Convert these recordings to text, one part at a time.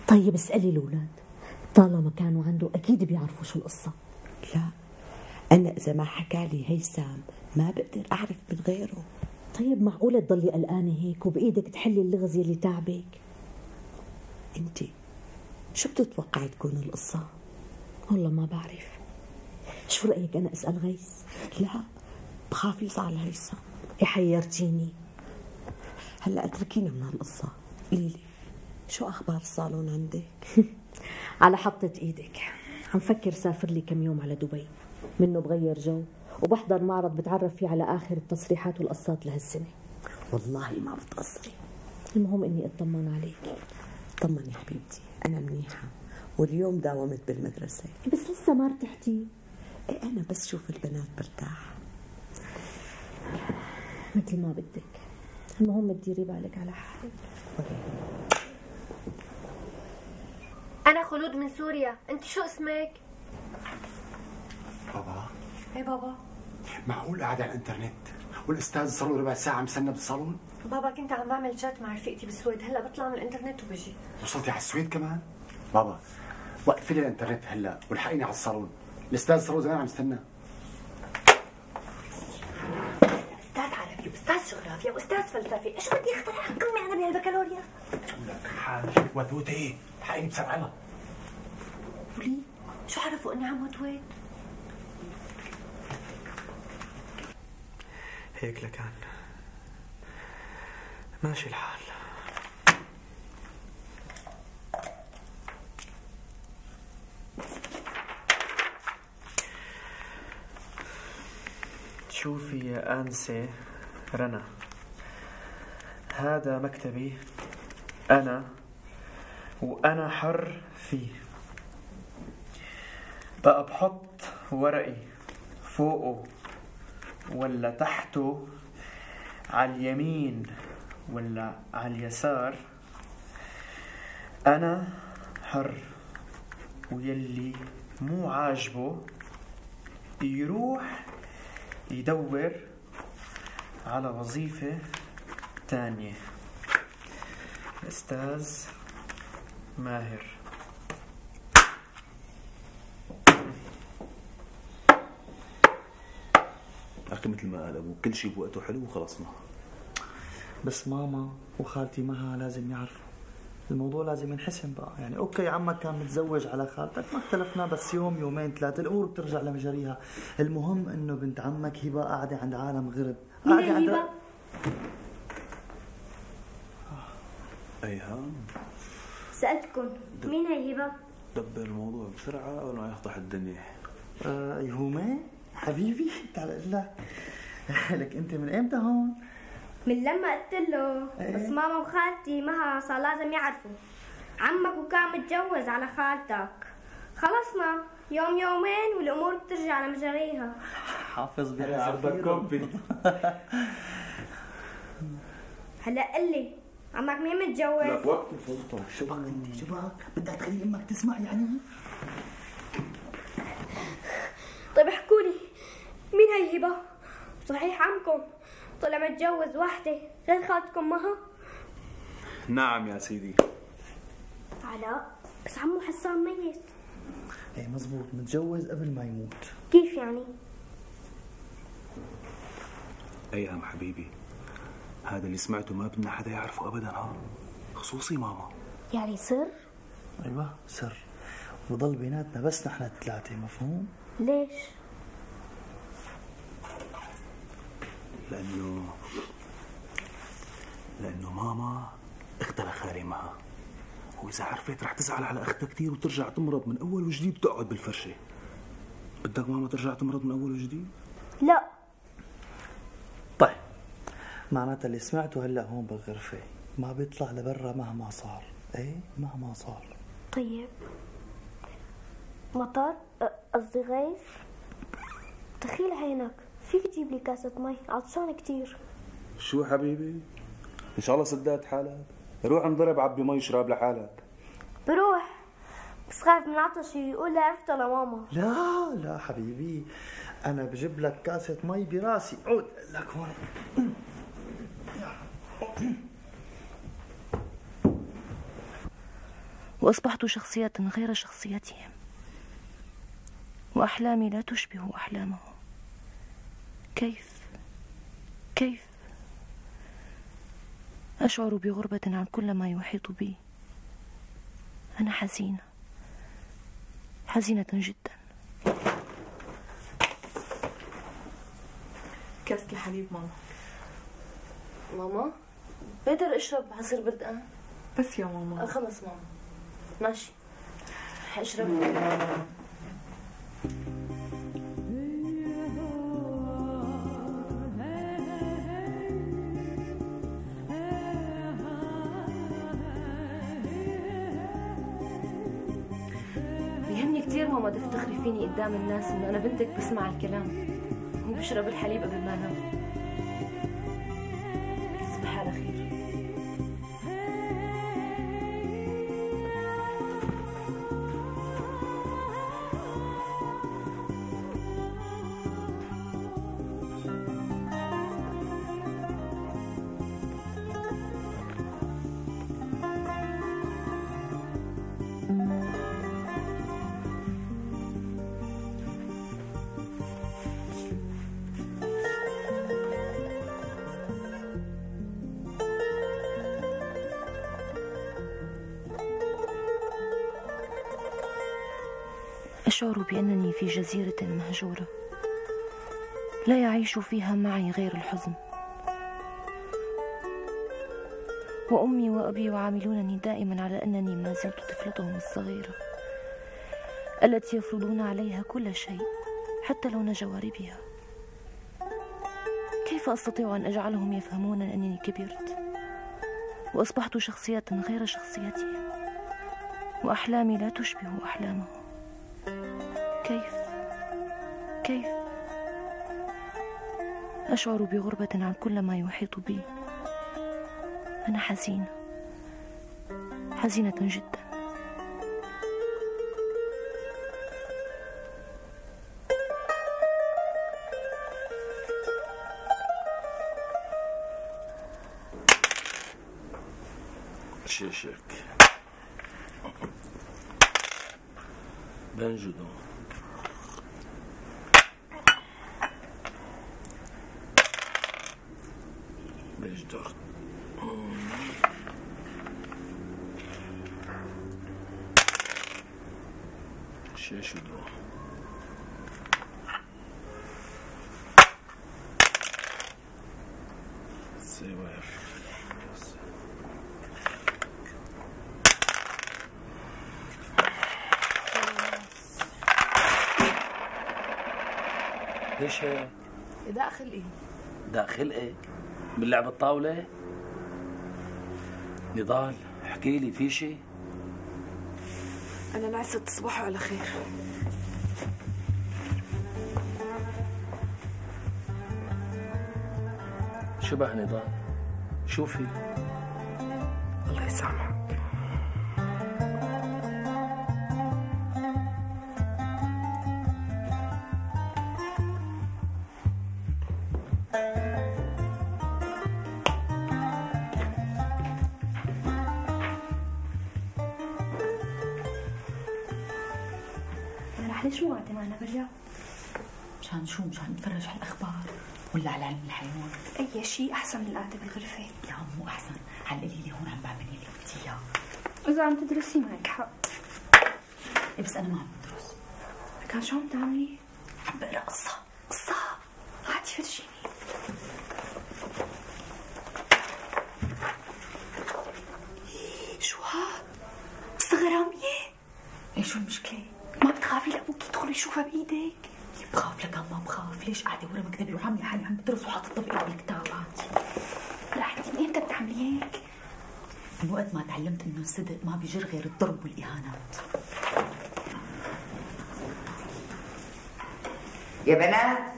طيب اسألي الأولاد، طالما كانوا عنده أكيد بيعرفوا شو القصة. لا، أنا إذا ما حكالي هيثم ما بقدر أعرف من غيره. طيب معقولة تضلي قلقانة هيك وبإيدك تحلي اللغز يلي تعبك؟ أنتِ شو بتتوقعي تكون القصة؟ والله ما بعرف. شو رأيك أنا أسأل غيث؟ لا، بخاف يزعل هيثم. حيرتيني. هلا اتركينا من هالقصة، قوليلي شو أخبار الصالون عندك؟ على حطة إيدك. عم فكر سافر لي كم يوم على دبي، منه بغير جو وبحضر معرض بتعرف فيه على آخر التصريحات والقصات لهالسنة. والله ما بتقصري. المهم إني أطمن عليك. طمني حبيبتي، أنا منيحة واليوم داومت بالمدرسة. بس لسه ما ارتحتي؟ إيه، أنا بس شوف البنات برتاح. مثل ما بدك، المهم تديري بالك على حالك. أنا خلود من سوريا، أنت شو اسمك؟ بابا. إيه بابا؟ معقول قاعد على الانترنت والاستاذ صار له ربع ساعة مستنى بالصالون؟ بابا كنت عم بعمل شات مع رفيقتي بالسويد، هلا بطلع من الانترنت وبجي. وصلتي على السويد كمان؟ بابا وقفي لي الانترنت هلا والحقيني على الصالون، الاستاذ صار له زمان عم يستنى. أستاذ عربي وأستاذ جغرافيا وأستاذ فلسفة، إيش بدي أخترع قمة أنا بهالبكالوريا؟ لك حاجة وتوتي، الحقيني بسرعة. وليه؟ شو عرفوا إني عم وتويت؟ هيك لكان ماشي الحال. شوفي يا آنسة رنا، هذا مكتبي أنا وأنا حر فيه. بقى بحط ورقي فوقه ولا تحته، على اليمين ولا على اليسار، أنا حر. ويلي مو عاجبه يروح يدور على وظيفة تانية. أستاذ ماهر. أخي مثل ما قال أبوك كل شيء بوقته حلو وخلصنا. بس ماما وخالتي معها لازم يعرفوا الموضوع، لازم ينحسم بقى. يعني اوكي عمك كان متزوج على خالتك ما اختلفنا، بس يوم يومين ثلاثة الامور بترجع لمجاريها. المهم انه بنت عمك هبه قاعده عند عالم غرب. مين هبه؟ أيها سألتكم مين هي هبه؟ دبر الموضوع بسرعة قبل ما يفضح الدنيا. يومين حبيبي تعال اقول لك. لك انت من امتى هون؟ من لما قلت له. بس ماما وخالتي معها صار لازم يعرفوا. عمك وكان متجوز على خالتك. خلصنا يوم يومين والامور بترجع لمجاريها. حافظ بحسابكم. هلا قل لي عمك مين متجوز؟ لك وقت الفلطة. شو بك انت؟ شو بك؟ بدك تخلي امك تسمع يعني؟ طيب احكوا لي مين هي هبه؟ صحيح عمكم طلع متجوز وحده غير خالتكم معها؟ نعم يا سيدي. علاء بس عمو حسان ميت. ايه مزبوط، متجوز قبل ما يموت. كيف يعني؟ أيهم حبيبي، هذا اللي سمعته ما بدنا حدا يعرفه أبدا، ها خصوصي ماما. يعني سر؟ ايوه سر، وضل بيناتنا بس نحن الثلاثة، مفهوم؟ ليش؟ لأنه ماما اختها خالي معها، وإذا عرفت رح تزعل على أختها كتير وترجع تمرض من أول وجديد وتقعد بالفرشة. بدك ماما ترجع تمرض من أول وجديد؟ لا. طيب معناتها اللي سمعته هلا هون بالغرفة ما بيطلع لبرا مهما صار. ايه مهما صار. طيب مطر قصدي غيث، دخيل عينك فيك تجيب لي كاسة مي، عطشان كتير. شو حبيبي؟ إن شاء الله سدات حالك، روح انضرب عبي مي اشرب لحالك. بروح بس خايف من عطشي يقول لي عرفت لماما. لا لا حبيبي، أنا بجيب لك كاسة مي براسي. عود لك هون. وأصبحت شخصية غير شخصيتهم، وأحلامي لا تشبه أحلامهم. كيف أشعر بغربة عن كل ما يحيط بي. أنا حزينة جدا. كاسة الحليب ماما. ماما بقدر أشرب عصير بردقان؟ بس يا ماما. خلص ماما، ماشي اشرب. بيهمني كثير ماما تفتخري فيني قدام الناس انه انا بنتك بسمع الكلام وبشرب الحليب قبل ما انام. تصبح على خير. أشعر بأنني في جزيرة مهجورة لا يعيش فيها معي غير الحزن، وأمي وأبي يعاملونني دائما على أنني ما زلت طفلتهم الصغيرة التي يفرضون عليها كل شيء حتى لون جواربها. كيف أستطيع أن أجعلهم يفهمون أنني كبرت وأصبحت شخصية غير شخصيتهم، وأحلامي لا تشبه أحلامهم؟ كيف أشعر بغربة عن كل ما يحيط بي. أنا حزينة جدا. شيشك بنجدو بجدر شيشدو سواف ليش هيك؟ داخل ايه؟ داخل ايه؟ من لعب الطاولة؟ نضال احكي لي في شيء؟ أنا نعست. تصبحوا على خير. شبه نضال شوفي. الله يسامحك. ليش مو قاعدة معنا برا؟ مشان شو؟ مشان نتفرج على الأخبار ولا على علم الحيوان؟ أي شيء أحسن من القعدة بالغرفة. لا مو أحسن، علقي لي هون عم بعمل اللي قلتي إياه. إذا عم تدرسي معك حق. إيه بس أنا ما عم بدرس. كان شو عم تعملي؟ عم بقرا قصة. هاتي فرجيني. شو هاد؟ قصة غرامية؟ إيه شو المشكلة؟ ما بتخافي لأبوك يدخل يشوفها بإيدك؟ بخاف لك ما بخاف. ليش قاعدة ورا مكتبي وعاملة حالي عم بدرس وحاطة بإيدي الكتابات؟ رح من إمتى بتعملي هيك؟ من وقت ما تعلمت إنه الصدق ما بيجر غير الضرب والإهانات. يا بنات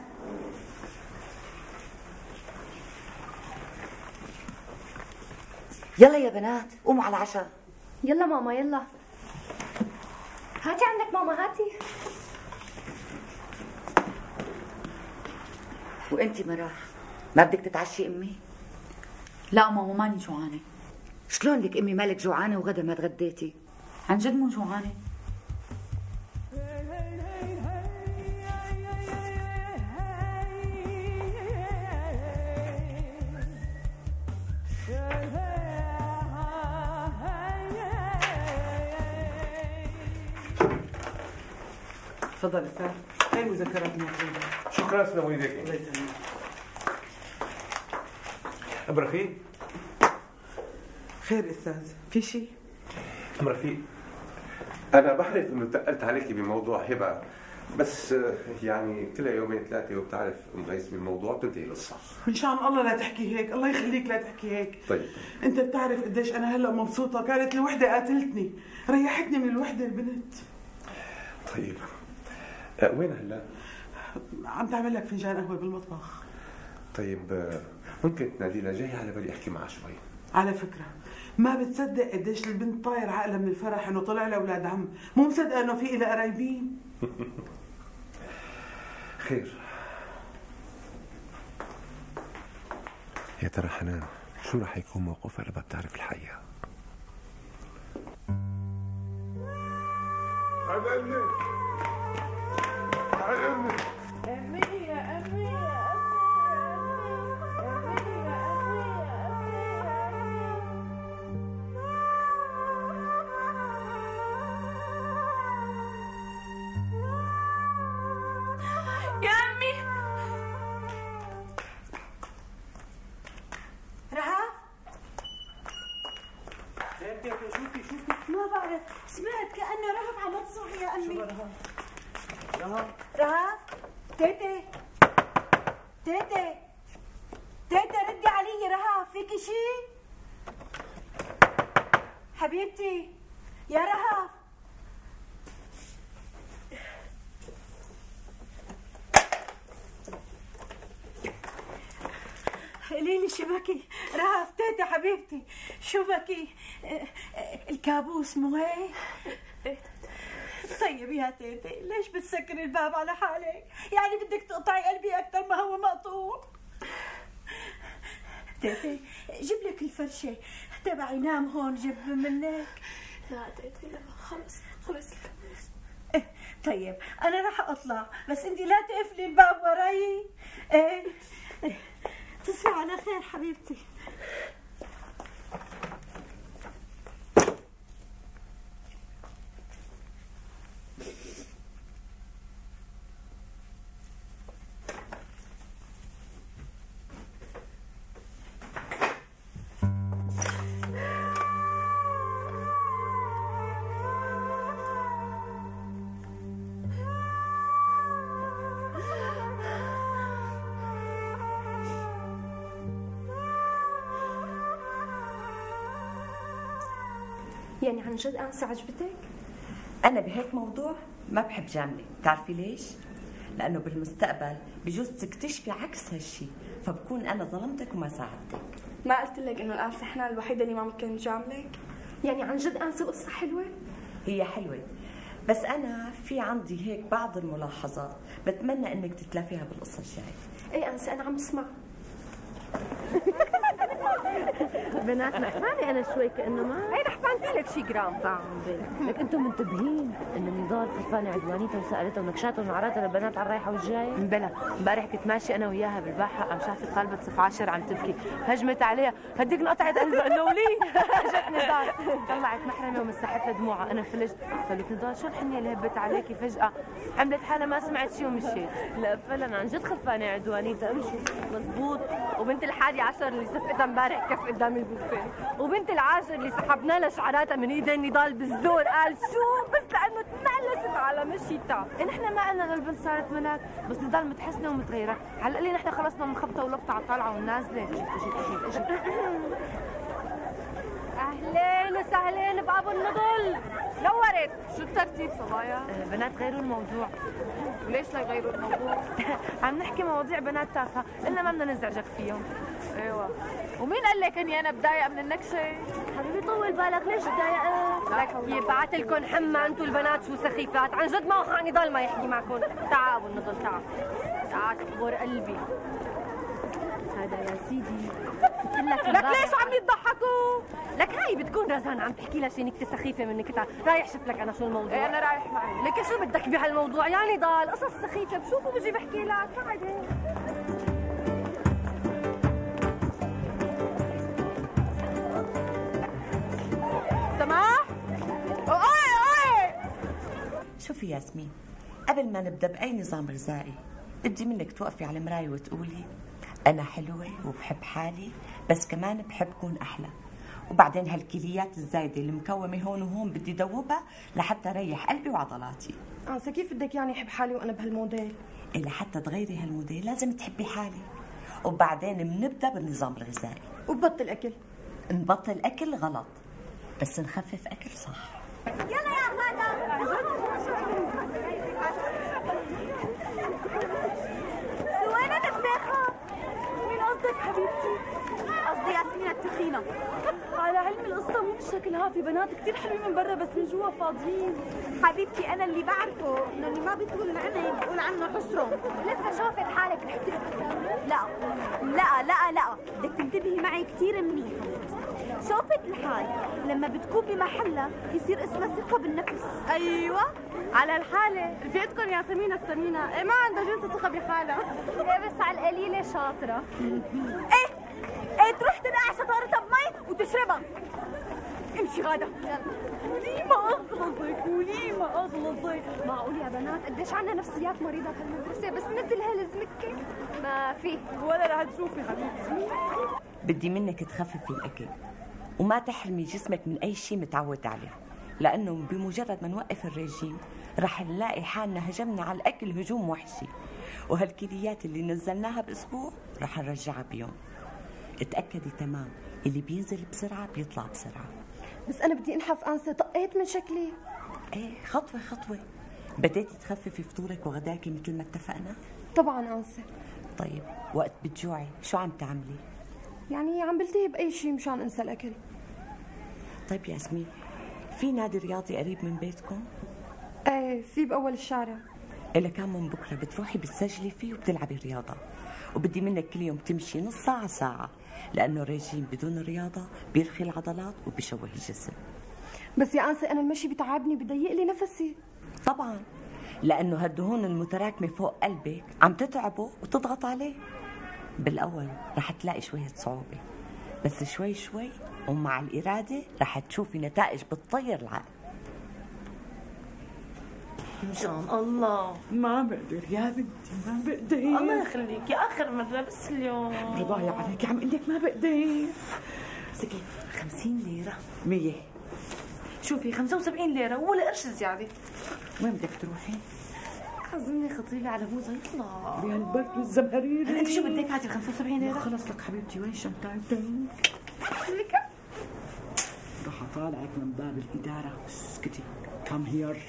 يلا يا بنات قوموا على العشاء. يلا ماما يلا. هاتي عندك ماما هاتي. وانتي مراح ما بدك تتعشي امي؟ لا ماما ماني جوعانة. شلون لك امي مالك جوعانة وغدا ما تغديتي؟ عن جد مو جوعانة. تفضل استاذ، هاي المذكرات المطلوبة. شكرا سلام ايديك. الله يسلمك. ام رفيق. خير استاذ، في شيء؟ ام رفيق، انا بعرف انه تقلت عليكي بموضوع هبه، بس يعني كلها يومين ثلاثه وبتعرف مغيث بالموضوع بتنتهي القصه. من شان الله لا تحكي هيك، الله يخليك لا تحكي هيك. طيب انت بتعرف قديش انا هلا مبسوطه، كانت الوحده قاتلتني، ريحتني من الوحده البنت. طيب وين هلا؟ عم تعمل لك فنجان قهوه بالمطبخ. طيب ممكن تنادي لها، جاي على بالي احكي معها شوي. على فكره ما بتصدق قديش البنت طاير عقلها من الفرح انه طلع لها اولاد عم، مو مصدقه انه في لها قرايبين. خير. يا ترى حنان شو رح يكون موقفها لما بتعرف الحقيقه؟ تعال امي، تعال امي. امي يا امي يا يا امي. رهف؟ شوفي ما بعرف، سمعت كأنه رهف عم تصرخ يا امي. شو رهف؟ رهف؟ تيتي تيتي تيتي ردي علي. رهف فيكي شي؟ حبيبتي يا رهف. قولي لي شو بكي؟ رهف تيتي حبيبتي شو بكي؟ الكابوس مو هيك؟ طيب يا تيتي ليش بتسكري الباب على حالك؟ يعني بدك تقطعي قلبي أكثر ما هو مقطوع؟ تيتي جيب لك الفرشة تبعي، نام هون جيب منك. لا تيتي لا، خلص الكابوس. طيب أنا رح أطلع، بس أنت لا تقفلي الباب وراي. إيه تصبحي على خير حبيبتي. يعني عن جد أنسة عجبتك؟ أنا بهيك موضوع ما بحب جاملة، بتعرفي ليش؟ لأنه بالمستقبل بجوز تكتشفي عكس هالشي، فبكون أنا ظلمتك وما ساعدتك. ما قلت لك إنه الأنسة حنان الوحيدة اللي ما ممكن تجاملك؟ يعني عن جد أنسة قصة حلوة؟ هي حلوة، بس أنا في عندي هيك بعض الملاحظات بتمنى إنك تتلافيها بالقصة الجاية. إيه أنسة أنا عم اسمع. بنات نحفاني انا شوي كانه ما هي نحفانتي لك شي جرام طعم لك. انتم منتبهين انه نضال خلفانه عدوانيتها وسالتها ونكشاتها ونعراتها للبنات على الرايحه والجايه؟ بلا امبارح كنت ماشي انا وياها بالباحه، قام شافت طالبه صف 10 عم تبكي، هجمت عليها هديك انقطعت قلبها انه ولي. جت نضال طلعت محرمه ومسحت لها دموعها، انا فلجت قالت نضال شو الحنيه اللي هبت عليكي فجاه؟ عملت حالها ما سمعت شيء ومشيت. لا فعلا عن جد خلفانه عدوانيتها. امشوا مزبوط. وبنت ال11 اللي صفتها امبارح كف قدام البوفيه، وبنت ال10 اللي سحبنا لها شعراتها من ايدين نضال بالزور قال شو بس لانه تملست على مشيتها. نحن ما قلنا للبنت صارت ملاك، بس نضال متحسنه ومتغيره، على القليل نحن خلصنا من خبطه ولقطه على الطالعه والنازله. اجت اهلين وسهلين بابو النضل. نورت. شو الترتيب صبايا؟ بنات غيروا الموضوع. وليش لا يغيروا الموضوع؟ عم نحكي مواضيع بنات تافهه، قلنا ما بدنا نزعجك فيهم. ايوه. ومين قال لك اني انا بضايقه من النكشه؟ حبيبي طول بالك ليش تضايقت؟ لك يبعت لكم حمى انتوا البنات شو سخيفات، عن جد ما هو نضال ما يحكي معكم. تعال ابو النضل تعال. تعال تكبر قلبي. هذا يا سيدي لك ليش عم يضحكوا؟ لك هاي بتكون رزان عم تحكي لها شي نكته سخيفه من نكتها، رايح شوف لك انا شو الموضوع. ايه انا رايح معي. لك شو بدك بهالموضوع؟ يعني ضل قصص سخيفه بشوفه بجي بحكي لك. تعال سماح. اوي شوفي ياسمين، قبل ما نبدا باي نظام غذائي بدي منك توقفي على المرايه وتقولي انا حلوه وبحب حالي، بس كمان بحب كون احلى. وبعدين هالكليات الزايده المكومه هون وهون بدي دوبها لحتى ريح قلبي وعضلاتي. كيف بدك يعني احب حالي وانا بهالموديل؟ لحتى تغيري هالموديل لازم تحبي حالي، وبعدين بنبدا بالنظام الغذائي. وبطل اكل؟ نبطل اكل غلط، بس نخفف اكل صح. يلا يا غادة. وين دباخة؟ مين قصدك حبيبتي؟ قصدي ياسمين التخينة. على علم القصة مو بالشكل ها، في بنات كثير حلوين من برا بس من جوا فاضيين. حبيبتي أنا اللي بعرفه إنه اللي ما بيطول العمى بقول عنه حسرم. لسه شوفي لحالك رحتي لا لا لا لا، بدك تنتبهي معي كثير منيح. شوفت الحال لما بتكون بمحلها يصير اسمها ثقة بالنفس. أيوة على الحالة رفيقتكم ياسمين السمينة، إيه ما عندها جنس ثقة بحالها. إيه بس على القليلة شاطرة. إيه تروح تنقع شطارتها بمي وتشربها. امشي غادة. وليه ما أغلظك وليه ما أغلظك؟ معقول يا بنات قديش عنا نفسيات مريضة بهالمدرسة بس مثل هالزمكة ما في ولا رح تشوفي حبيبتي. بدي منك تخففي الأكل وما تحرمي جسمك من أي شيء متعود عليه، لأنه بمجرد ما نوقف الرجيم رح نلاقي حالنا هجمنا على الأكل هجوم وحشي، وهالكليات اللي نزلناها بأسبوع رح نرجعها بيوم. اتأكدي تمام اللي بينزل بسرعة بيطلع بسرعة. بس أنا بدي أنحف أنسة، طقيت من شكلي. إيه خطوة خطوة. بديتي تخففي فطورك وغداكي مثل ما اتفقنا؟ طبعا أنسة. طيب وقت بتجوعي شو عم تعملي؟ يعني عم بلتهي بأي شيء مشان أنسى الأكل. طيب ياسمين، في نادي رياضي قريب من بيتكم؟ ايه في بأول الشارع. إلا كان من بكرة بتروحي بتسجلي فيه وبتلعبي رياضة، وبدي منك كل يوم تمشي نص ساعة ساعة، لأنه الرجيم بدون رياضة بيرخي العضلات وبيشوه الجسم. بس يا أنسة أنا المشي بتعبني بضيق لي نفسي. طبعا لأنه هالدهون المتراكمة فوق قلبك عم تتعبه وتضغط عليه. بالأول رح تلاقي شوية صعوبة، بس شوي شوي ومع الإرادة رح تشوفي نتائج بتطير العقل. مشان الله ما بقدر يا بنتي ما بقدر. الله يخليكي آخر مرة بس اليوم. رضايا عليكي عم قلك ما بقدر. سكي 50 ليرة 100. شوفي 75 ليرة ولا قرش زيادة. وين بدك تروحي؟ عزمني خطيبي على موزة يطلع بهالبرد والزمهرير. انت شو بدك هاتي 75 ليرة؟ خلص لك حبيبتي وين شنطتك؟ رح اطالعك من باب الإدارة. اسكتي. كم هير.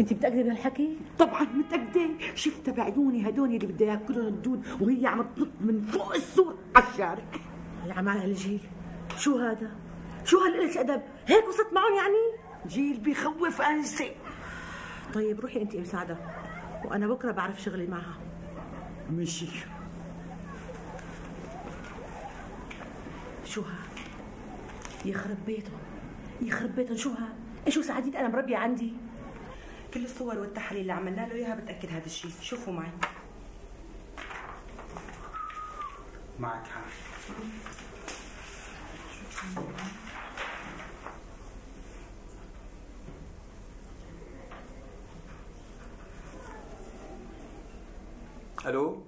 انت متأكدة بهالحكي؟ طبعا متأكدة، شفت بعيوني هدول اللي بدها ياكلهم الدود وهي عم تنط من فوق السور على الشارع. يا عمال هالجيل شو هذا؟ شو هالقلة الأدب؟ هيك وصلت معهم يعني؟ جيل بيخوف أنسة. طيب روحي انت مساعدة وأنا بكرة بعرف شغلي معها. مشي. شو ها؟ يخرب بيتهم يخرب بيتهم. شو ها؟ شو سعادتي أنا مربية عندي؟ كل الصور والتحاليل اللي عملنا له اياها بتاكد هذا الشيء. شوفوا معي. معك حق. الو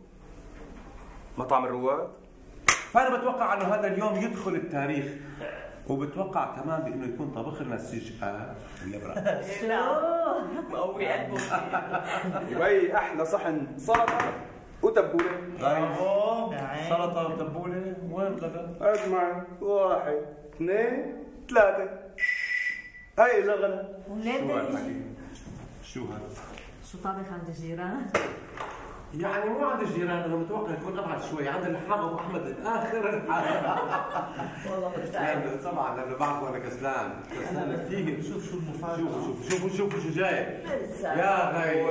مطعم الرواد. فانا بتوقع انه هذا اليوم يدخل التاريخ، وبتوقع كمان بانه يكون طبخ لنا السجقه واللبره. مقوي قلبه. يبي احلى صحن سلطه وتبوله. برافو. سلطه وتبوله. وين الغداء؟ اسمع 1 2 3. اي زغلة ولادي شو هذا؟ شو طابخ عند الجيران؟ يعني مو عند الجيران، انا متوقع يكون ابعد شوي عند الحاج ابو احمد الاخر. والله لا طبعا لانه بعرفه انا كسلان كثير. شوف المفاجأة، شوفوا شو جاي يا غي.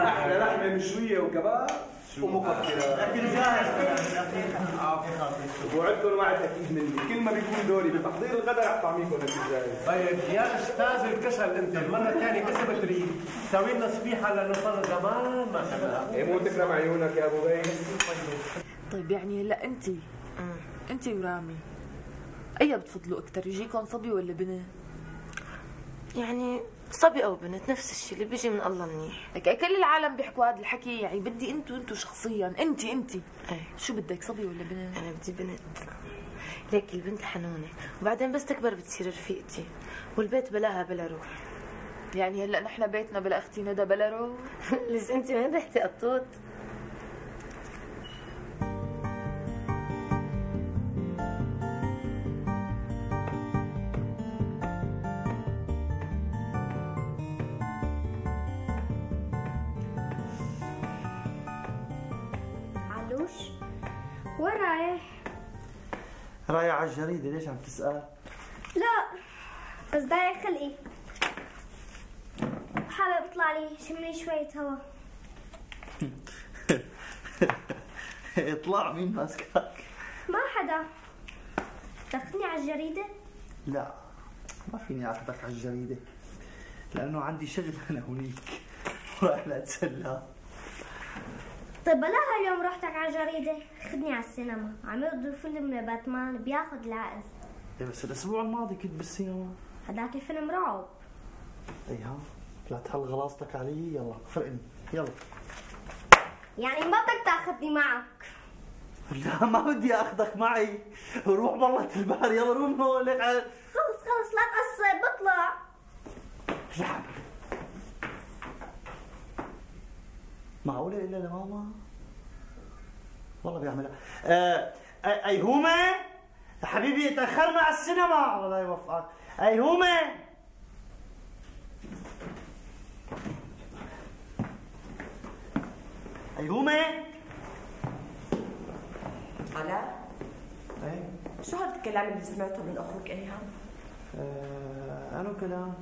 احلى لحمه مشويه وكباب ومقطره. اكل جاهز. وعدكم وعد اكيد مني، كل ما بيكون دوري بتحضير الغداء رح طعميكم اكل جاهز. طيب يا استاذ الكسل، انت المره الثانيه اذا بتريد سوي لنا صفيحه لانه صار زمان ما شفناها. ايه مو تكرم عيونك يا ابو بي. طيب يعني هلا انت ورامي اي بتفضلوا اكثر، يجيكم صبي ولا بنت؟ يعني صبي او بنت نفس الشيء اللي بيجي من الله منيح. لك كل العالم بيحكوا هذا الحكي، يعني بدي انتو شخصيا انت ايه شو بدك، صبي ولا بنت؟ انا بدي بنت. ليك البنت حنونه وبعدين بس تكبر بتصير رفيقتي، والبيت بلاها بلا روح. يعني هلا نحن بيتنا بلا اختي ندى بلا روح. ليش انت وين رحتي قطوط؟ وين رايح؟ رايح على الجريدة. ليش عم تسأل؟ لا بس ضايق خلقي، حابب اطلع لي شملي شوية هوا. اطلع. مين ماسكك؟ ما حدا. تاخذني على الجريدة؟ لا ما فيني اخذك على الجريدة لانه عندي شغل انا هونيك ورايح لاتسلى. طيب بلاها اليوم روحتك على الجريدة، خدني على السينما، عم يقضوا فيلم باتمان بياخذ العقل. ايه بس الاسبوع الماضي كنت بالسينما. هداك الفيلم رعب. اي ها لا تحل غلاصتك علي. يلا فرقني يلا. يعني ما بدك تاخذني معك؟ لا ما بدي اخذك معي، روح برة البحر. يلا روح من هون. خلص لا تقصر بطلع. لا معقولة إلا لماما؟ والله بيعملها. أيهومة حبيبي تأخرنا على السينما. الله يوفقك. أيهومة أيهومة. علاء ايه شو هذا الكلام اللي سمعته من أخوك إيهام؟ أنا كلام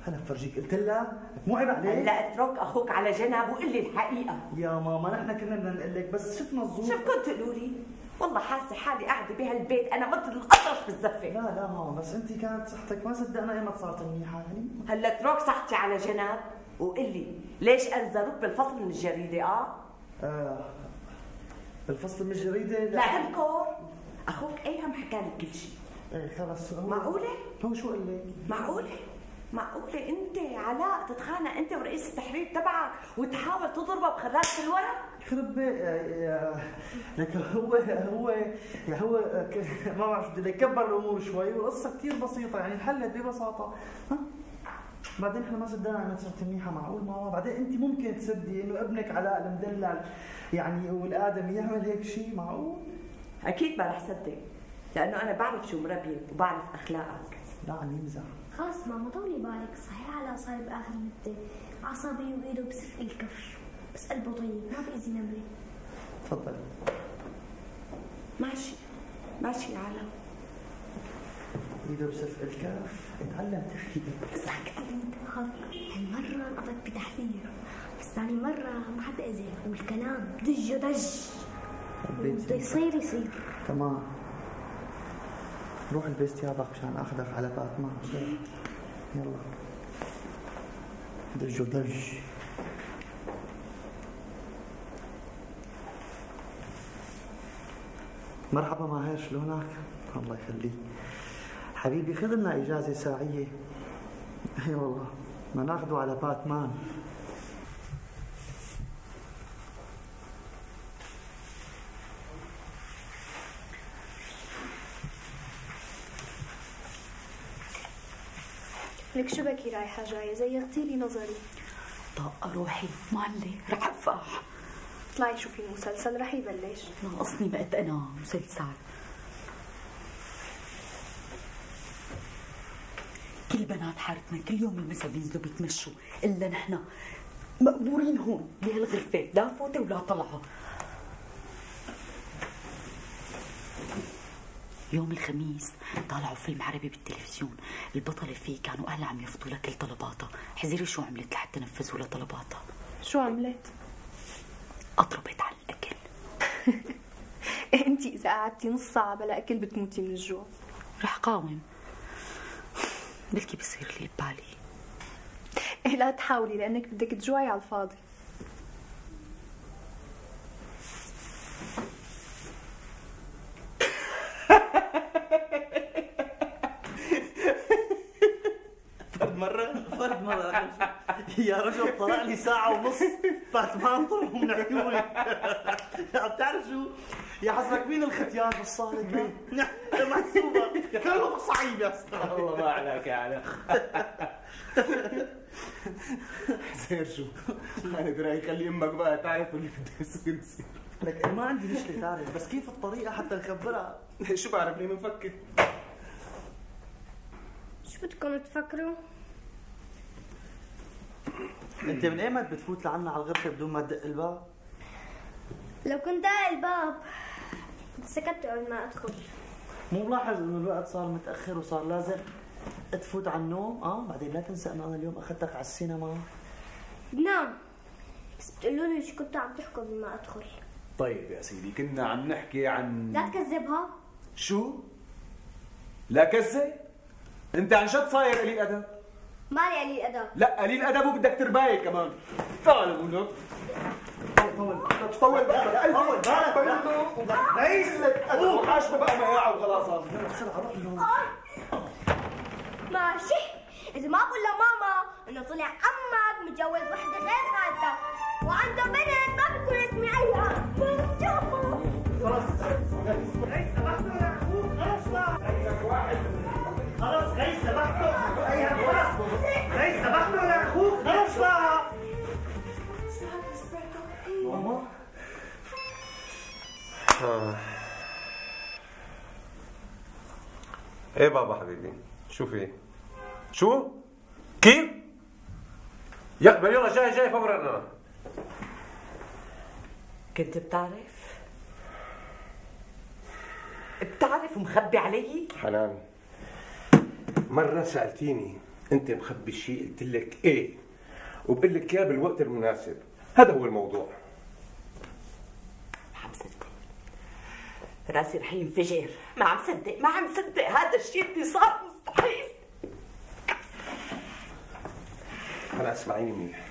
أنا بفرجيك. قلت لها مو عيب عليك؟ هلا اترك أخوك على جنب وقل لي الحقيقة. يا ماما نحن كنا بدنا نقول لك بس شفنا الظروف. شوف كنت تقولوا لي؟ والله حاسة حالي قاعدة بهالبيت أنا مثل الأطرش بالزفة. لا ماما بس أنت كانت صحتك ما صدقنا ايمت صارت منيحة يعني. هلا اترك صحتي على جنب وقل لي ليش أنزلوك بالفصل من الجريدة؟ بالفصل من الجريدة؟ لا تنكر. أخوك أيهم حكى لك كل شيء. ايه خلص. معقولة؟ هو شو قال لك؟ معقولة أنت علاء تتخانق أنت ورئيس التحرير تبعك وتحاول تضربه بخراطة الورق؟ خرب لك هو ما بعرف بدي لك كبر الأمور شوي والقصة كثير بسيطة يعني انحلت ببساطة. ها؟ بعدين احنا ما صدقنا عم صرت منيحة. معقول ماما؟ بعدين أنت ممكن تصدقي إنه ابنك علاء المدلل يعني والآدمي يعمل هيك شيء؟ معقول؟ أكيد ما رح صدق لأنه أنا بعرف شو مربيك وبعرف أخلاقك. لا عم يمزح. خلص ماما طولي بالك، صحيح على صار بآخر مدة عصبي وإيده بسف الكف بس قلبه طيب ما بيأذي نملة. تفضلي. ماشي يا عالم. ايده بسف الكف. اتعلم تخيل. سكت انت. هالمرة انقضت بتحذير بس ثاني مرة ما حدا أذى والكلام دج بده يصير. تمام. روح البس ثيابك مشان اخذك على باتمان. يلا دج. مرحبا ماهر شلونك؟ الله يخليك حبيبي. خذ لنا اجازه ساعيه. اي والله ما ناخذه على باتمان. لك شو بكي رايحة جاية زيغتي لي نظري. طاقة روحي معلي رح أفح. اطلعي شوفي المسلسل رح يبلش. ناقصني بقت أنا مسلسل. كل بنات حارتنا كل يوم المسا بينزلوا بيتمشوا، الا نحن مقبورين هون بهالغرفه، لا فوته ولا طلعه. يوم الخميس طالعوا فيلم عربي بالتلفزيون، البطلة فيه كانوا أهلها عم يفضوا لها كل طلباتها، حزيري شو عملت لحتى نفذوا لها طلباتها؟ شو عملت؟ أطربت على الأكل. انتي إذا قعدتي نص ساعة بلا أكل بتموتي من الجوع. رح قاوم، بلكي بصير لي ببالي. إيه لا تحاولي لأنك بدك تجوعي على الفاضي. فرد مرة يا رجل طلع لي ساعة ونص بعد ما انطلعوا من عيوني. بتعرف شو؟ يا حسبك مين الختيان بالصالة؟ محسوبة كله صعيب يا استاذ. الله ما عليك يا علي. زين شو؟ انا برايي خلي امك بقى تعرف اللي بده يصير. لك ما عندي مشكلة تعرف، بس كيف الطريقة حتى نخبرها؟ شو بعرفني بنفكر. شو بدكم تفكروا؟ انت من ايمت بتفوت لعنا على الغرفة بدون ما تدق الباب؟ لو كنت داق الباب كنت سكت قبل ما ادخل. مو ملاحظ انه الوقت صار متأخر وصار لازم تفوت على النوم؟ بعدين لا تنسى انه انا اليوم اخذتك على السينما. بنام، بس بتقولوا لي شو كنتوا عم تحكوا قبل ما ادخل. طيب يا سيدي كنا عم نحكي عن لا تكذبها. شو؟ لا كذب؟ انت عن جد صاير قليل ادب؟ مالي قليل ادب. لا قليل ادب وبدك ترباية كمان. تعال بقول لك. طول بالك طول بالك ليس لك ادب حاشمه بقى مقاعه وخلاص. ماشي، اذا ما بقول لماما انه طلع عمك متجوز وحده غير خالتك وعنده بنت ما بكون اسمي ايها. خلاص خلاص غيث سبحته ايها خلاص غيث سبحته يا اخوك خلاص بقى. ماما ايه بابا حبيبي شو في؟ شو؟ كيف؟ يقبل يلا جاي فورا. كنت بتعرف ومخبي علي؟ حنان مرة سألتيني أنت مخبي شيء قلت لك إيه وبقول لك إياه بالوقت المناسب. هذا هو الموضوع. ما عم صدق، راسي رح ينفجر. ما عم صدق هذا الشيء اللي صار مستحيل. هلا اسمعيني منيح.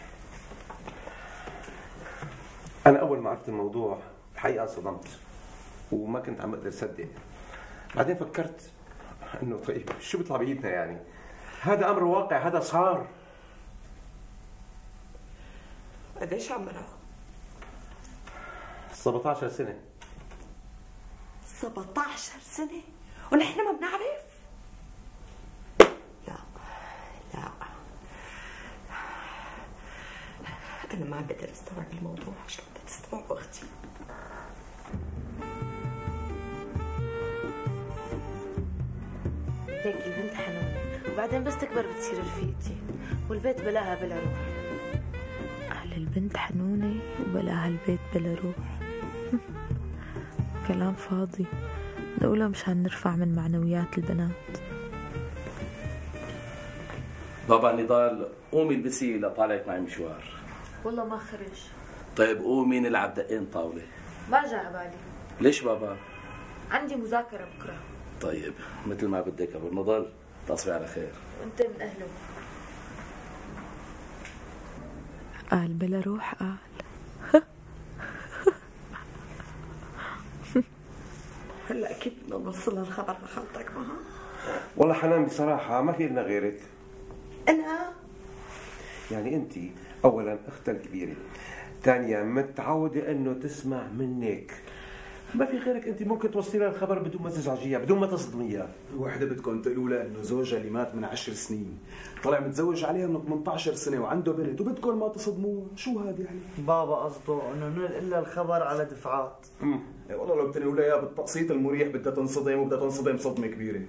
أنا أول ما عرفت الموضوع الحقيقة انصدمت وما كنت عم أقدر أصدق. بعدين فكرت إنه طيب شو بيطلع بإيدنا يعني؟ هذا أمر واقع، هذا صار. قديش عمرها؟ 17 سنة. 17 سنة؟ ونحن ما بنعرف؟ لا أنا ما عم بقدر أستوعب الموضوع. شلون بدي أستوعب أختي؟ هيك البنت حنونة وبعدين بس تكبر بتصير رفيقتي والبيت بلاها بلا روح. أهل البنت حنونة وبلاها البيت بلا روح. كلام فاضي، نقوله مشان نرفع من معنويات البنات. بابا نضال قومي البسي لطالعك معي مشوار. والله ما خرج. طيب قومي نلعب دقين طاولة. ما جا عبالي. ليش بابا؟ عندي مذاكرة بكرة. طيب مثل ما بدك ابو نضال، تصبحي على خير. وانت من اهله. قال بلا روح قال. هلا اكيد بدنا نوصل الخبر لخالتك معها. والله حنان بصراحة ما في لنا غيرك. أنا؟ يعني أنت أولا أختها الكبيرة، ثانيا متعودة إنه تسمع منك. ما في غيرك أنت ممكن توصلي لها الخبر بدون ما تزعجيها، بدون ما تصدميها. وحدة بدكم تقولوا لها إنه زوجها اللي مات من 10 سنين طلع متزوج عليها من 18 سنة وعنده بنت وبدكم ما تصدموها. شو هاد يعني؟ بابا قصده إنه ننقل لها الخبر على دفعات. والله لو بتنقلوا لها إياه بالتقسيط المريح بدها تنصدم وبدها تنصدم صدمة كبيرة.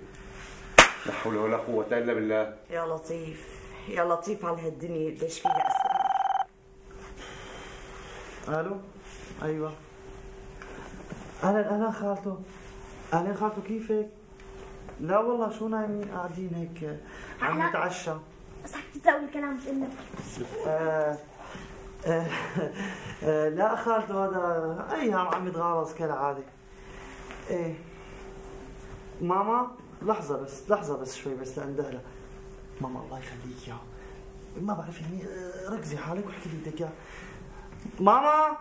لا حول ولا قوة إلا بالله. يا لطيف يا لطيف على هالدنيا قديش فيها أسرار. الو ايوه اهلا خالته. اهلا خالته كيفك؟ لا والله شو نايمين قاعدين هيك عم نتعشى. بس حكي تزاول الكلام مش انك. لا خالته هذا ايام عم يتغاوز كالعاده. ايه ماما لحظة بس شوي بس لأندهلها. ماما الله يخليك يا ما بعرف يعني ركزي حالك واحكي لي بدك اياه. ماما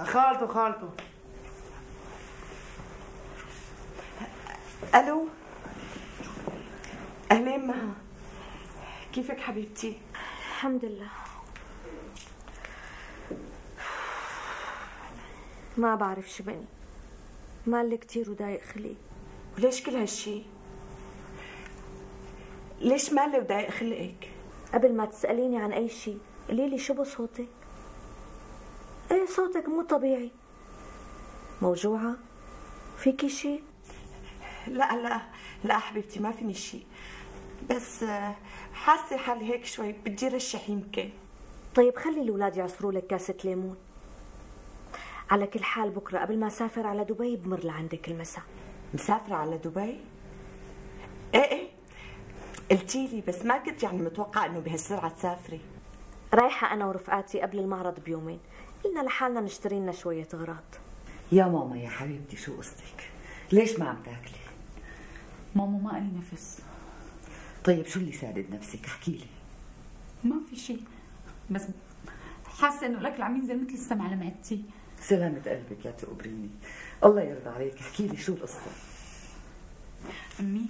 خالته الو اهلين مها، كيفك حبيبتي؟ الحمد لله. ما بعرف شو بني، مالي كتير وضايق خلقي. وليش كل هالشي؟ ليش مالي وضايق خلقك؟ قبل ما تسأليني عن أي شيء قولي لي شو بصوتك؟ ايه صوتك مو طبيعي. موجوعة؟ فيكي شيء؟ لا حبيبتي ما فيني شيء، بس حاسة حالي هيك شوي بدي رشح يمكن. طيب خلي الأولاد يعصروا لك كاسة ليمون. على كل حال بكرة قبل ما أسافر على دبي بمر لعندك المساء. مسافرة على دبي؟ ايه قلتيلي بس ما كنت يعني متوقعة انه بهالسرعة تسافري. رايحة أنا ورفقاتي قبل المعرض بيومين، قلنا لحالنا نشتري لنا شوية أغراض. يا ماما يا حبيبتي شو قصتك؟ ليش ما عم تاكلي؟ ماما ما قالي نفس. طيب شو اللي سادد نفسك؟ احكي لي. ما في شيء، بس حاسة انه الأكل عم ينزل مثل السم على معدتي. سلامة قلبك يا تقبريني، الله يرضى عليك. احكي لي شو القصة؟ أمي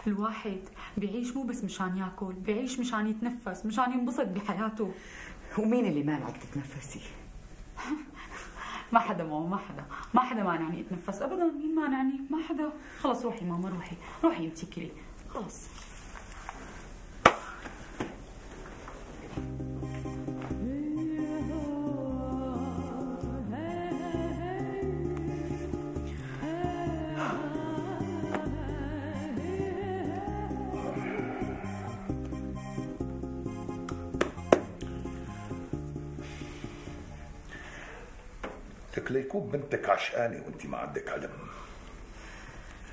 الواحد بيعيش مو بس مشان ياكل، بيعيش مشان يتنفس، مشان ينبسط بحياته. ومين اللي مانعك تتنفسي؟ ما حدا ماما، ما حدا مانعني اتنفس ابدا. مين مانعني؟ ما حدا. خلص روحي ماما، روحي انتي كلي خلص. لك ليكون بنتك عشقانة وانت ما عندك علم.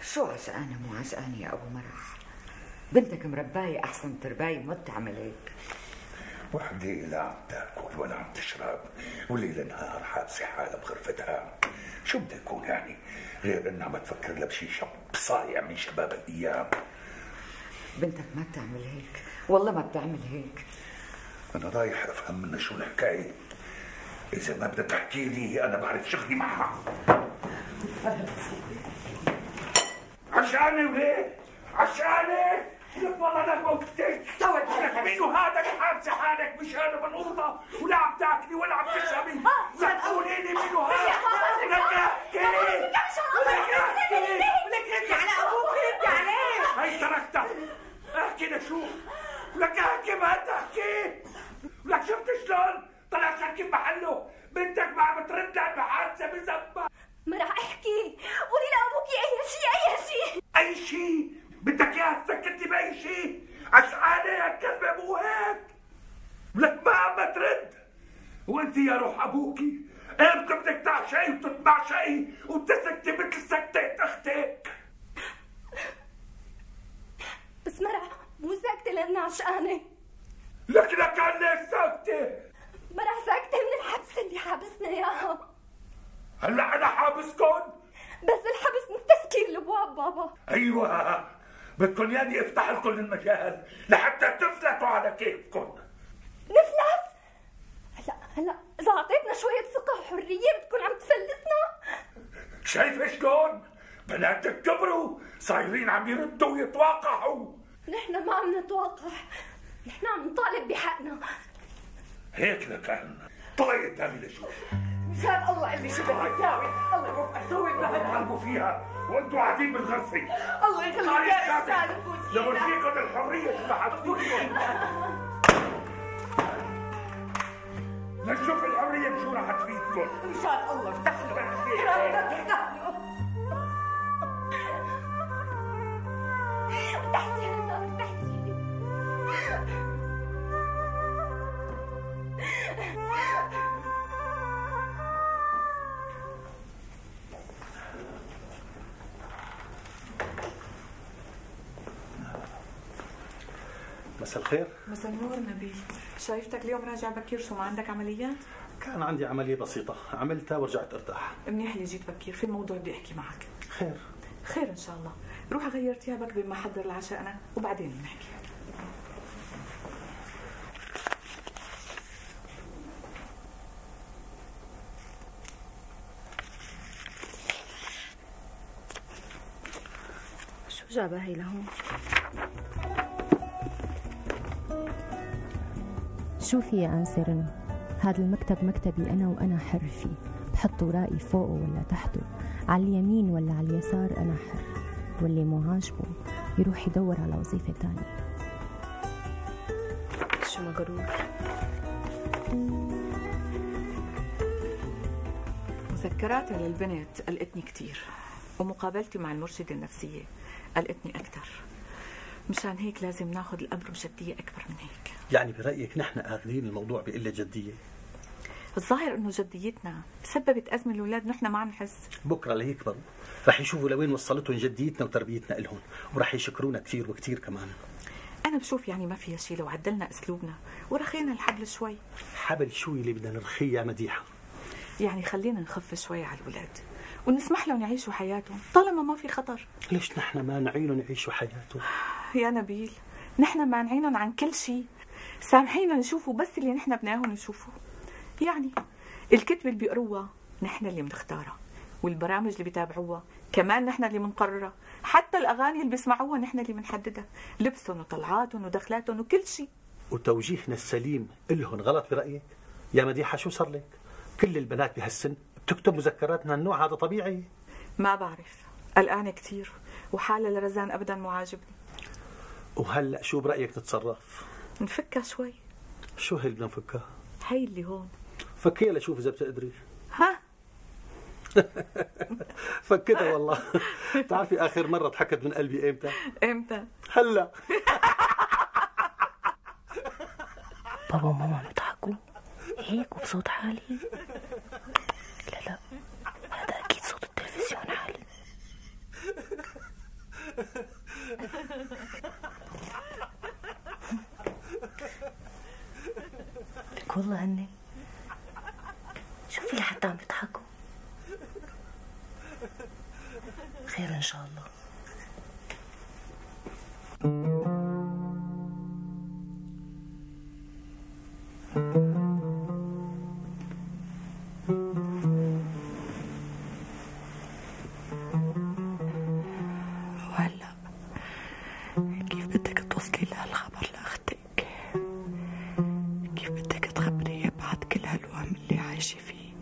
شو عشقانة مو عشقانة يا ابو مرح؟ بنتك مرباية احسن ترباية ما بتعمل هيك. وحدة لا عم تاكل ولا عم تشرب وليل نهار حابسة حالها بغرفتها. شو بده يكون يعني غير انها عم تفكر لها بشي شاب صايع من شباب الايام. بنتك ما بتعمل هيك، والله ما بتعمل هيك. انا رايح افهم منها شو الحكاية. إذا ما بدها تحكي لي أنا بعرف شغلي معها. عشاني وليه؟ عشاني؟ لك والله أنا موتك. لك مينو هذا اللي حابسة حالك مشان بالأوضة ولا عم تاكلي ولا عم تشربي؟ لا تقولي لي مينو هذا. لك احكي. ولك ردي على أبوك، ردي عليه. هي تركتها. احكي لشوف. لك احكي ما تحكي. لك شفت شلون؟ طلع شركب محله. بنتك ما عم ترد لها بحادثة بذنبها. ما راح احكي، قولي لابوكي اي شيء. اي شيء؟ بدك اياها تسكتي باي شيء؟ عشقانة يا كلبة مو هيك؟ لك ما عم ترد. وانت يا روح ابوكي امتى بدك تعشقي وتتمعشقي وتسكتي مثل سكتة اختك؟ بس مرح مو ساكتة لأنها عشقانة. لك كان ليش ساكتة؟ مرح ساكتة من الحبس اللي حابسنا اياها. هلا انا حابسكن؟ بس الحبس من تسكير الابواب بابا. ايوه بدكن ياني افتح لكم المجال لحتى تفلتوا على كيفكم. نفلت؟ هلا اذا اعطيتنا شوية ثقة وحرية بتكون عم تفلتنا. شايفة شلون؟ بناتك كبروا صايرين عم يردوا ويتواقعوا. نحن ما عم نتواقع، نحن عم نطالب بحقنا. هيك لكان طلعي قدامي لشوف. مشان الله اللي شو بدك تساوي، الله يوفقك سوي لا تحاربوا فيها وانتوا قاعدين بالغرفة. الله يخليك يا استاذ فوزي. لورجيكم الحرية تبعت فيكم. لنشوف الحرية بشو راح تفيدكم. مشان الله افتح له، افتح له. مساء الخير. مساء النور نبيل. شايفتك اليوم راجع بكير، شو ما عندك عمليات؟ كان عندي عملية بسيطة عملتها ورجعت ارتاح. منيح اللي جيت بكير، في موضوع بدي احكي معك. خير. خير ان شاء الله. روح غير ثيابك بما حضر العشاء انا وبعدين بنحكي. شو جابها هي لهون؟ شوفي يا أنسة رنا، هذا المكتب مكتبي أنا وأنا حر فيه، بحط ورائي فوقه ولا تحته، على اليمين ولا على اليسار أنا حر، واللي مو عاجبه يروح يدور على وظيفة تانية. شو مغرور. مذكراتي للبنت قلقتني كتير، ومقابلتي مع المرشدة النفسية قلقتني أكتر. مشان هيك لازم ناخذ الأمر بجدية أكبر من هيك. يعني برأيك نحن آخذين الموضوع بقلة جدية؟ الظاهر إنه جديتنا سببت أزمة الأولاد نحن ما عم نحس. بكرة ليكبروا رح يشوفوا لوين وصلتهم جديتنا وتربيتنا إلهم، ورح يشكرونا كثير وكثير كمان. أنا بشوف يعني ما فيها شيء لو عدلنا أسلوبنا ورخينا الحبل شوي. حبل شو اللي بدنا نرخيه يا مديحة؟ يعني خلينا نخف شوي على الأولاد ونسمح لهم يعيشوا حياتهم طالما ما في خطر. ليش نحن ما نعينهم يعيشوا حياتهم؟ يا نبيل نحن مانعينهم عن كل شيء، سامحينا نشوفوا بس اللي نحن بدناهم يشوفوا. يعني الكتب اللي بيقروها نحن اللي بنختارها، والبرامج اللي بيتابعوها كمان نحن اللي بنقررها، حتى الأغاني اللي بيسمعوها نحن اللي بنحددها، لبسهم وطلعاتهم ودخلاتهم وكل شيء. وتوجيهنا السليم إلهم غلط برأيك؟ يا مديحة شو صار لك؟ كل البنات بهالسن بتكتب مذكرات من النوع هذا طبيعي؟ ما بعرف، قلقانة كثير وحالة لرزان أبدا مو عاجبني. وهلأ شو برأيك تتصرف؟ نفكها شوي. شو هي اللي بدنا نفكها؟ هي اللي هون. فكيها لشوف إذا بتقدري. ها؟ فكتها والله. بتعرفي آخر مرة ضحكت من قلبي إمتى؟ إمتى؟ هلأ. بابا وماما بيضحكوا هيك وبصوت عالي؟ لا هذا أكيد صوت التلفزيون عالي. لك والله هني شوفي لحتى عم بيضحكوا. خير إن شاء الله. وهلا كيف بدك توصلي لهالخبر لأختك؟ كيف بدك تخبريها بعد كل هالوهم اللي عايشة فيه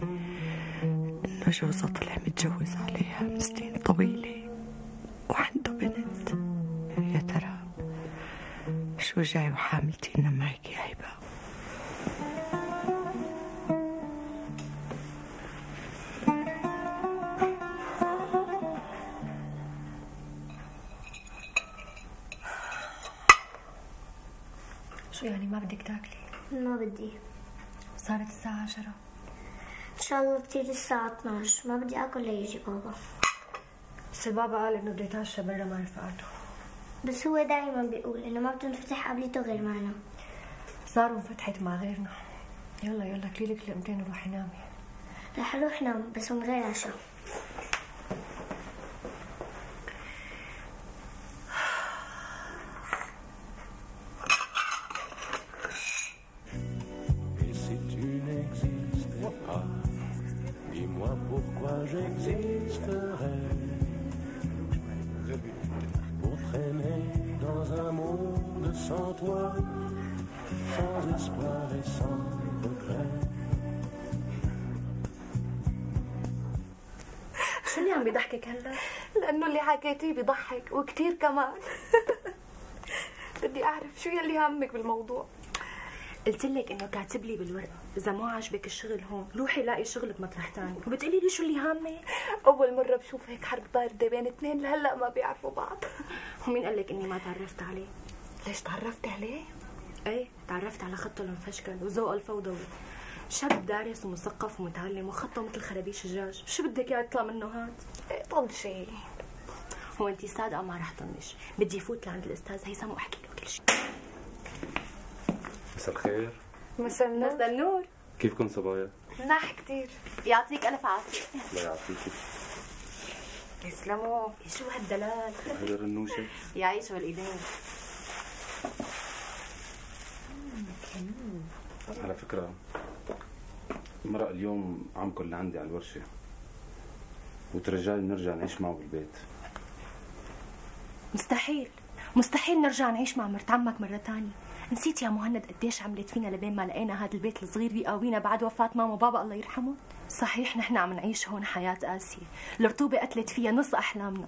إنه جوزها طلع متجوز عليها من سنين طويلة وعنده بنت؟ يا ترى شو جاي وحاملتينا معك يا هبة؟ شو يعني ما بدك تاكلي؟ ما بدي. صارت الساعة 10. إن شاء الله بتيجي الساعة 12، ما بدي آكل ليجي بابا. بس البابا قال إنه بده يتعشى برا مع رفقاته. بس هو دايما بيقول إنه ما بتنفتح قبلته غير معنا. صاروا انفتحت مع غيرنا. يلا كليلك لقمتين وروحي نامي. رح أروح نام بس من غير عشاء. Pour traîner dans un monde sans toi, sans espoir et sans regret. شو اللي عم بيضحكك هلا؟ لأنه اللي حكيتيه بيضحك وكتير كمان. بدي أعرف شو يلي همك بالموضوع. قلت لك انه كاتب لي بالورقه اذا ما عجبك الشغل هون روحي لاقي شغل بمطرح ثاني، وبتقولي لي شو اللي هامك؟ اول مره بشوف هيك حرب بارده بين اثنين لهلا ما بيعرفوا بعض. ومين قال لك اني ما تعرفت عليه؟ ليش تعرفتي عليه؟ ايه تعرفت على خطه المفشكل وذوقه الفوضوي، شاب دارس ومثقف ومتعلم وخطه مثل خرابيش الدجاج. شو بدك اياه يطلع منه هاد؟ ايه طنشي. هو انتي صادقه ما رح طنش، بدي فوت لعند الاستاذ هيثم واحكي له كل شيء. مساء الخير. مساء النور. مساء النور. كيفكم صبايا؟ مناح كتير. يعطيك ألف عافية. الله يعافيكي. يسلموا. شو هالدلال؟ هذا رنوشة. يعيش بالإيدين. على فكرة مرق اليوم عمكم اللي عندي على الورشة وترجاني نرجع نعيش معه بالبيت. مستحيل مستحيل نرجع نعيش مع مرت عمك مرة تانية. نسيت يا مهند قديش عملت فينا لبين ما لقينا هذا البيت الصغير بيقاوينا بعد وفاة ماما وبابا الله يرحمه؟ صحيح نحن عم نعيش هون حياة قاسية، الرطوبة قتلت فيها نص أحلامنا،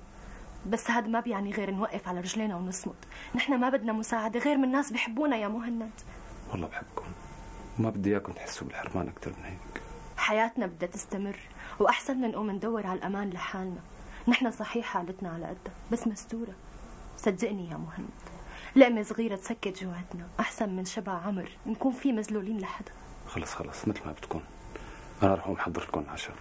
بس هذا ما بيعني غير نوقف على رجلينا ونصمد. نحن ما بدنا مساعدة غير من ناس بيحبونا يا مهند. والله بحبكم وما بدي اياكم تحسوا بالحرمان أكتر من هيك. حياتنا بدها تستمر وأحسن من نقوم ندور على الأمان لحالنا. نحن صحيح حالتنا على قدها بس مستورة. صدقني يا مهند، لقمة صغيرة تسكت جواتنا أحسن من شبع عمر نكون فيه مذلولين لحدا. خلص مثل ما بدكم، أنا رح أقوم أحضر لكم العشاء.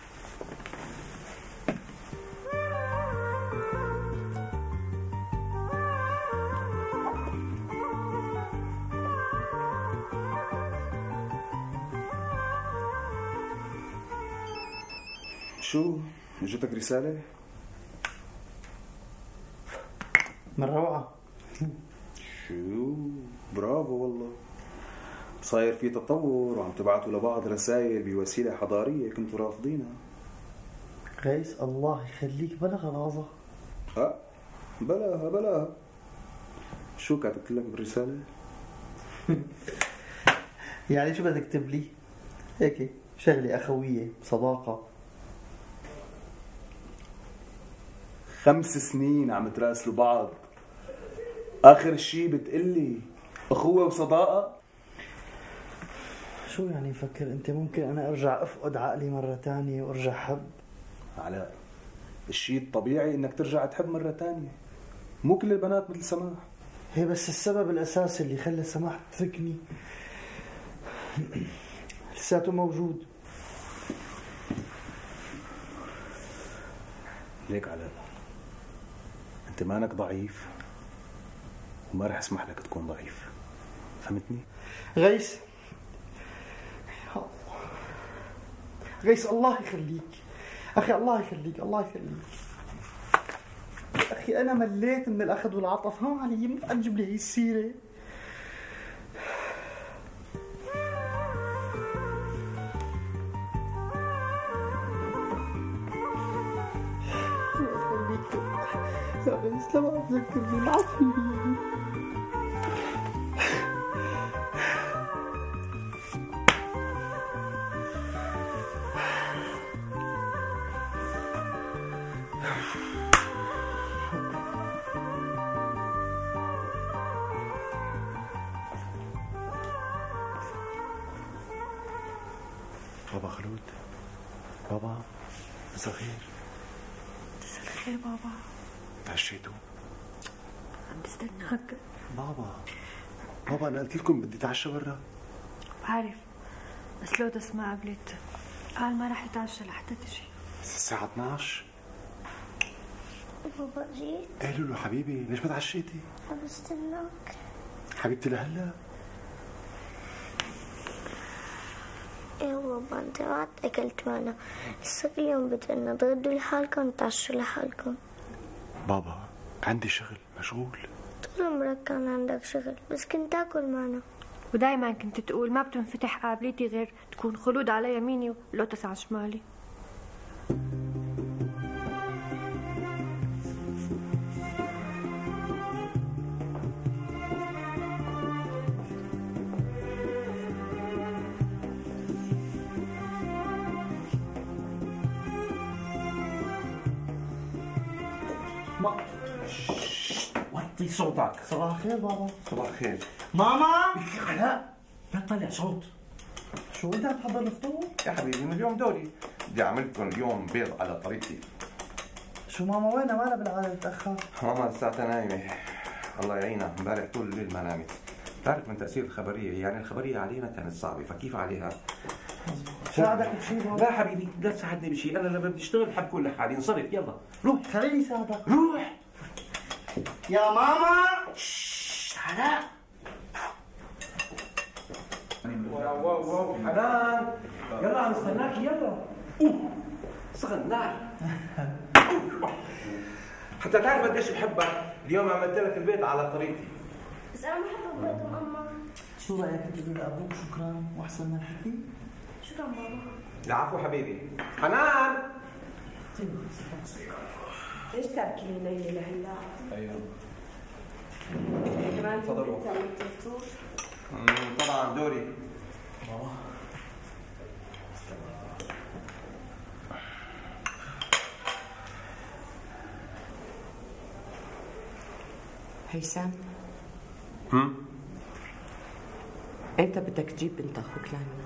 شو؟ اجتك رسالة؟ من روعة. شو؟ برافو والله. صاير في تطور وعم تبعتوا لبعض رسائل بوسيلة حضارية كنتوا رافضينها. غيث الله يخليك بلا غلاظة. بلاها. شو كاتبت لك بالرسالة؟ يعني شو بدك تكتب لي؟ هيك شغلة أخوية صداقة. 5 سنين عم تراسلوا بعض، آخر شي بتقلي أخوة وصداقة؟ شو يعني مفكر أنت ممكن أنا أرجع أفقد عقلي مرة تانية وأرجع حب؟ علاء، الشي الطبيعي إنك ترجع تحب مرة تانية، مو كل البنات مثل سماح. هي بس السبب الأساسي اللي خلى سماح تتركني لساته موجود. ليك علاء، أنت مانك ضعيف وما رح اسمح لك تكون ضعيف، فهمتني؟ غيث الله يخليك أخي، الله يخليك أخي، أنا مليت من الأخذ والعطف. ها علي ما تجيب لي هي السيرة. يا غيث لما أتذكرني العفو. بابا خلود، بابا مساء الخير. مساء الخير بابا. تعشيتوا؟ عم بستناك. بابا أنا قلت لكم بدي اتعشى برا. بعرف بس لودس ما قبلت، قال ما رح يتعشى لحتى تجي. الساعة 12. بابا جيت؟ ايه لولو حبيبي، ليش ما تعشيتي؟ عم بستناك حبيبتي لهلا. ايه بابا انت ما اكلت معنا، لسه كل يوم بدنا تغدوا لحالكم وتعشوا لحالكم. بابا عندي شغل، مشغول. طول عمرك كان عندك شغل بس كنت تاكل معنا. ودايما كنت تقول ما بتنفتح قابلتي غير تكون خلود على يميني ولوتس على شمالي. وطي صوتك. صباح الخير بابا. صباح الخير ماما. علاء لا تطلع صوت. شو انت عم تحضر الفطور؟ يا حبيبي من اليوم دوري بدي اعمل لكم اليوم بيض على طريقتي. شو ماما وينها؟ مالها بالعاده تتاخر؟ ماما لساتها نايمه، الله يعينها، امبارح طول الليل ما نامت. بتعرف من تاثير الخبريه، يعني الخبريه علينا كانت صعبه، فكيف عليها؟ ساعدك بشيء بابا؟ لا حبيبي لا تساعدني بشيء، انا لما بدي اشتغل بحب كون لحالي. انصرف يلا روح. خليني ساعدك. روح يا ماما. علاء واو حنان يلا عم نستناك يلا. سخن نار. حتى تعرف قديش بحبك، اليوم عملت لك البيت على طريقتي. بس انا بحب بيتهم اما. شو رايك تقول لابوك شكرا واحسن من الحكي؟ شكرا بابا. العفو حبيبي. حنان ليش تاكلي ليلى لهلا؟ ايوه كمان تفضلوا. عملت الفطور؟ طبعا دوري. هيثم امتى بدك تجيب بنت اخوك لعنا؟